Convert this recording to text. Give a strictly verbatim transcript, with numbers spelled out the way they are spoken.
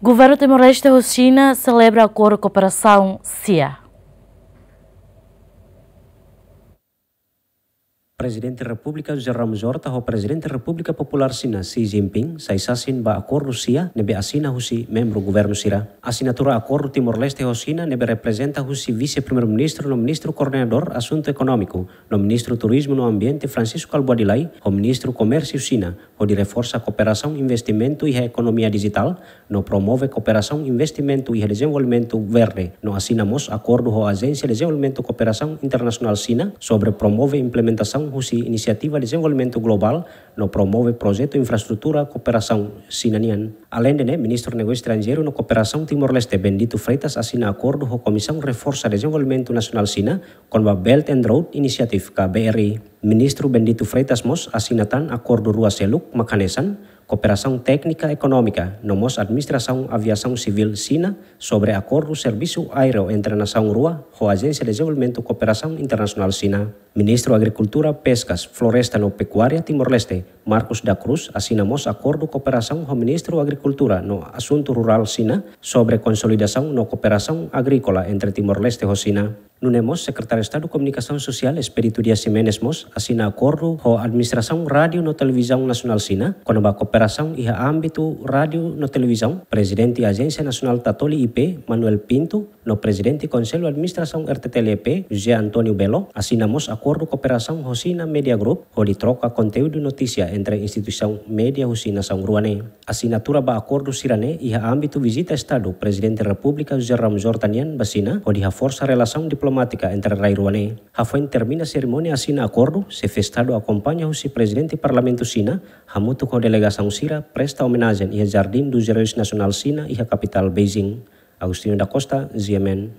Governu Timor-Leste ho Xina selebra akordu kooperasaun SIA. Prezidente Repúblika José Ramos Horta ho Prezidente Repúblika Populár Xina Xi Jinping sai sasin ba akordu SIA ne'ebé asina husi membru governu sira. Asinatura akordu Timor-Leste ho Xina ne'ebé reprezenta husi Vise-Primeiru-Ministru no Ministru Koordenadór Asuntu Ekonómiku no Ministru Turizmu no Ambiente Francisco Albuadilai ho Ministru Komérsiu Xina, hodi reforsa kooperasaun investimentu iha ekonomia dijitál, no promove kooperasaun investimentu iha dezenvolvimentu verde, no asina mós akordu ho Ajénsia Dezenvolvimentu Kooperasaun Internasionál Xina sobre promove implementasaun husi inisiativa dezenvolvimentu globál, no promove projetu infraestrutura kooperasaun Xina nian. Aleinde ne'e, Ministru Negósiu Estranjeiru no Kooperasaun Timor-Leste Bendito Freitas asina akordu ho Komisaun Reforsa Dezenvolvimentu Nasionál Xina kona-ba Belt and Road Initiative ka B R I. Ministru Bendito Freitas mós asina tan akordu rua seluk mak hanesan kooperasaun téknika ekonómika, no mós administrasaun aviasaun sivíl Xina sobre akordu servisu aéreu entre nasaun rua ho Ajénsia Dezenvolvimentu Kooperasaun Internasionál Xina. Ministru Agrikultura, Peskas, Floresta no Pekuária Timor-Leste, Marcos da Cruz, asina mós akordu kooperasaun ho Ministru Agrikultura no Asuntu Rurál Xina sobre konsolidasaun no kooperasaun agríkola entre Timor-Leste ho Xina. Nune'e mós Sekretáriu Estadu Komunikasaun Sosiál Expedito Dias Ximenes mós asina akordu ho Administrasaun Rádiu no Televizaun Nasionál Xina kona-ba kooperasaun iha ámbitu rádiu no televizaun. Prezidente Ajénsia Nasionál Tatoli I P, Manuel Pinto, no Prezidente Konsellu Administrasaun R T T L E P, José António Belo, asina mós akordu kooperasaun ho Xina Media Group hodi troka konteúdu notísia entre instituisaun média husi nasaun rua ne'e. Asinatura ba akordu sira-ne'e iha ámbitu vizita Estadu Prezidente Repúblika José Ramos Horta nian ba Xina, hodi haforsa relasaun diplomátika entre rai rua ne'e. Hafoin termina serimónia asina akordu, Xefe Estadu akompaña husi Prezidente Parlamentu Xina, hamutuk ho delegasaun sira presta omenajen iha Jardim dos Heróis Nasionál Xina iha kapitál Beijing. Agostinho da Costa, G M N.